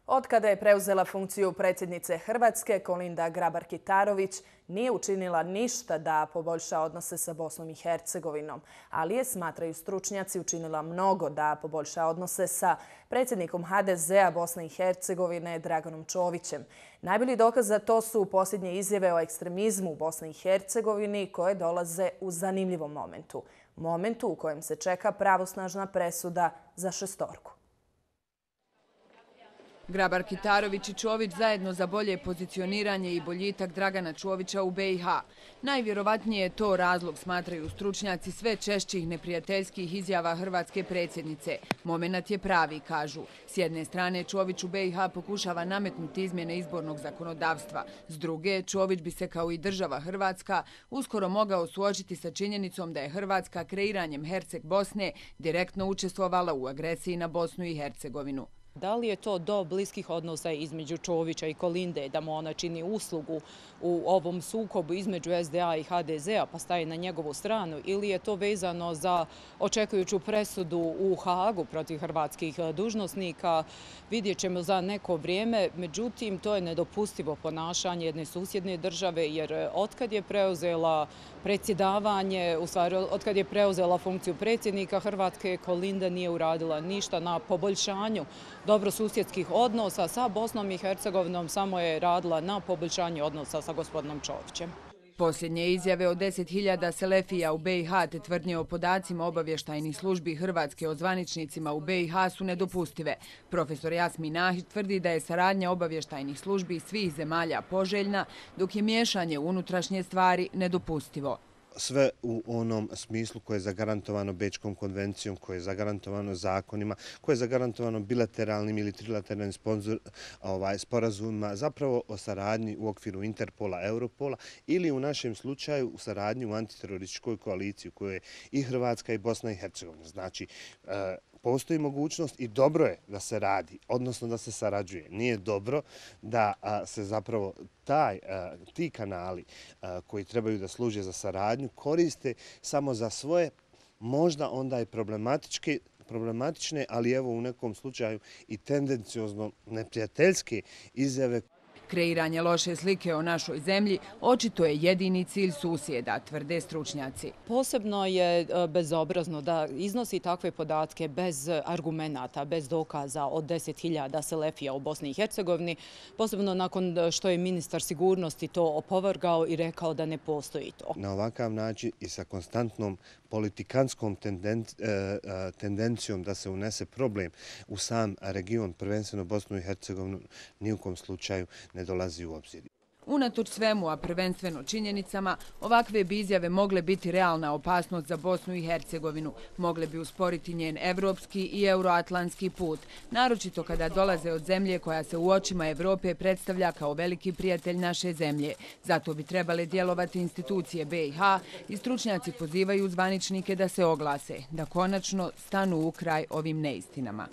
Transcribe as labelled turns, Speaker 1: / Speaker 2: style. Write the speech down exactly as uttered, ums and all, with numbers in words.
Speaker 1: Otkada je preuzela funkciju predsjednice Hrvatske, Kolinda Grabar-Kitarović nije učinila ništa da poboljša odnose sa Bosnom i Hercegovinom, ali je, smatraju stručnjaci, učinila mnogo da poboljša odnose sa predsjednikom ha de zea Bosne i Hercegovine Draganom Čovićem. Najbolji dokaz za to su posljednje izjave o ekstremizmu u Bosni i Hercegovini koje dolaze u zanimljivom momentu. Momentu u kojem se čeka pravosnažna presuda za šestorku.
Speaker 2: Grabar-Kitarović i Čović zajedno za bolje pozicioniranje i boljitak Dragana Čovića u be i ha. Najvjerovatnije je to razlog, smatraju stručnjaci, sve češćih neprijateljskih izjava hrvatske predsjednice. Momenat je pravi, kažu. S jedne strane, Čović u be i ha pokušava nametnuti izmjene izbornog zakonodavstva. S druge, Čović bi se, kao i država Hrvatska, uskoro mogao suočiti sa činjenicom da je Hrvatska kreiranjem Herceg Bosne direktno učestvovala u agresiji na Bosnu i Hercegovinu.
Speaker 3: Da li je to do bliskih odnosa između Čovića i Kolinde, da mu ona čini uslugu u ovom sukobu između es de a i ha de zea pa staje na njegovu stranu, ili je to vezano za očekujuću presudu u Hagu protiv hrvatskih dužnosnika, vidjet ćemo za neko vrijeme. Međutim, to je nedopustivo ponašanje jedne susjedne države, jer otkad je preuzela predsjedavanje, u stvari otkad je preuzela funkciju predsjednika Hrvatske, Kolinda nije uradila ništa na poboljšanju dobrosusjedskih odnosa sa Bosnom i Hercegovinom, samo je radila na poboljšanju odnosa sa gospodinom Čovićem.
Speaker 2: Posljednje izjave o deset hiljada selefija u be i ha te tvrdnje o podacima obavještajnih službi Hrvatske o zvaničnicima u be i ha su nedopustive. Profesor Jasmin Nahić tvrdi da je saradnja obavještajnih službi svih zemalja poželjna, dok je miješanje u unutrašnje stvari nedopustivo.
Speaker 4: Sve u onom smislu koje je zagarantovano Bečkom konvencijom, koje je zagarantovano zakonima, koje je zagarantovano bilateralnim ili trilateralnim ovaj, sporazumima, zapravo o saradnji u okviru Interpola, Europola ili u našem slučaju u saradnji u antiterorističkoj koaliciji u kojoj je i Hrvatska i Bosna i Hercegovina. Znači, e, postoji mogućnost i dobro je da se radi, odnosno da se sarađuje. Nije dobro da a, se zapravo taj, a, ti kanali a, koji trebaju da služe za saradnju koriste samo za svoje, možda onda i problematičke, problematične, ali evo u nekom slučaju i tendenciozno neprijateljske izjave.
Speaker 2: Kreiranje loše slike o našoj zemlji očito je jedini cilj susjeda, tvrde stručnjaci.
Speaker 3: Posebno je bezobrazno da iznosi takve podatke bez argumenata, bez dokaza od deset hiljada selefija u Bosni i Hercegovini, posebno nakon što je ministar sigurnosti to opovrgao i rekao da ne postoji to.
Speaker 4: Na ovakav način i sa konstantnom politikanskom tendencijom da se unese problem u sam region, prvenstveno Bosnu i Hercegovinu, ni u kom slučaju ne dolazi u obzir.
Speaker 2: Unatoč svemu, a prvenstveno činjenicama, ovakve bi izjave mogle biti realna opasnost za Bosnu i Hercegovinu. Mogle bi usporiti njen evropski i euroatlantski put, naročito kada dolaze od zemlje koja se u očima Evrope predstavlja kao veliki prijatelj naše zemlje. Zato bi trebale djelovati institucije be i ha i stručnjaci pozivaju zvaničnike da se oglase, da konačno stanu u kraj ovim neistinama.